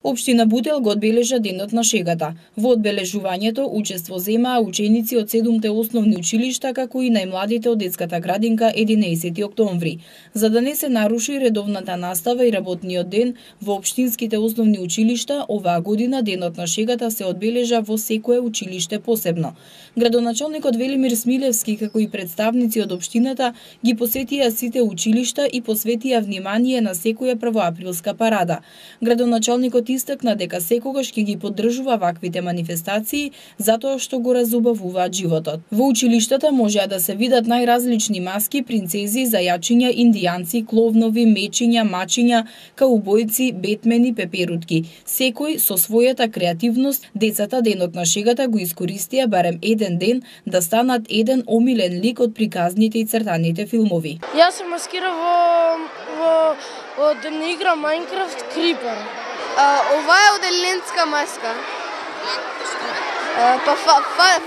Општина Бутел го одбележа денот на шегата. Во одбележувањето учество земаа ученици од 7-те основни училишта, како и најмладите од детската градинка 11 октомври. За да не се наруши редовната настава и работниот ден во општинските основни училишта, оваа година денот на шегата се одбележа во секое училиште посебно. Градоначалникот Велимир Смилевски, како и представници од општината, ги посетија сите училишта и посветија внимание на секоја првоаприлска парада. Градоначалникот истакна дека секогаш ќе ги поддржува ваквите манифестации затоа што го разубавуваат животот. Во училиштата можеа да се видат најразлични маски, принцези, зајачиња, индијанци, кловнови, мечиња, мачиња, каубојци, бетмени, пеперутки. Секој со својата креативност, децата денот на шегата го искористија барем еден ден да станат еден омилен лик од приказните и цртаните филмови. Јас се маскирав од не игра Майнкрафт Крипер. Ова е од еленска маска. Па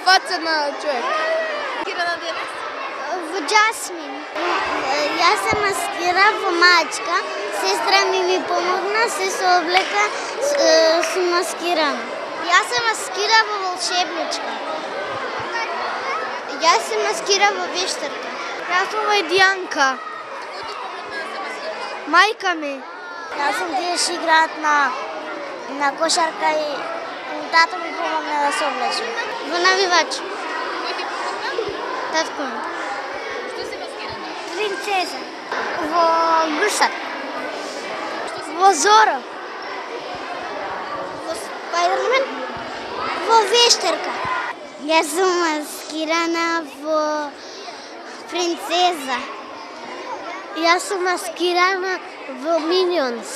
фаца на човек. Во Джасмин. Јас се маскирав во мачка. Сестра ми помогна, се облека сум маскирана. Јас се маскирав во волшебничка. Јас се маскирав во вештарка. Јас сум во Дијанка. Мајка ми. Јас сум деш играат на кошарка и тато ми помогна да се облече. Во навивач. Кој ти помогна? Татко ми. Што се маскирана? Принцеза. Во гусар. Во Зоро. Во Спајдермен. Во вештарка. Јас сум маскирана во принцеза. Јас сум маскирана во Минионс.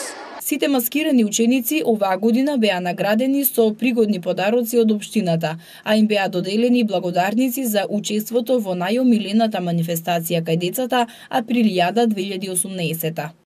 Сите маскирани ученици оваа година беа наградени со пригодни подароци од општината, а им беа доделени благодарници за учеството во најомилената манифестација кај децата Априлијада 2018.